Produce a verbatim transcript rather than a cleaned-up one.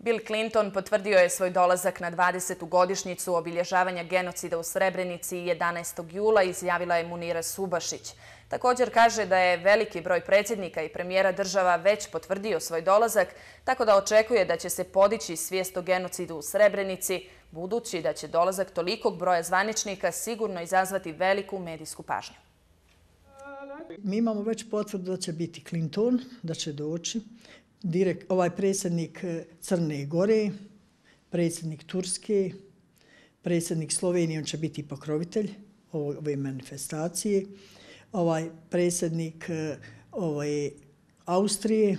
Bill Clinton potvrdio je svoj dolazak na dvadesetu godišnjicu obilježavanja genocida u Srebrenici jedanaestog jula, izjavila je Munira Subašić. Također kaže da je veliki broj predsjednika i premijera država već potvrdio svoj dolazak, tako da očekuje da će se podići svijest o genocidu u Srebrenici, budući da će dolazak tolikog broja zvaničnika sigurno izazvati veliku medijsku pažnju. Mi imamo već potvrdu da će biti Clinton, da će doći, direkt, ovaj predsjednik Crne Gore, predsjednik Turske, predsjednik Slovenije, on će biti pokrovitelj ove manifestacije, ovaj predsjednik ovaj, Austrije,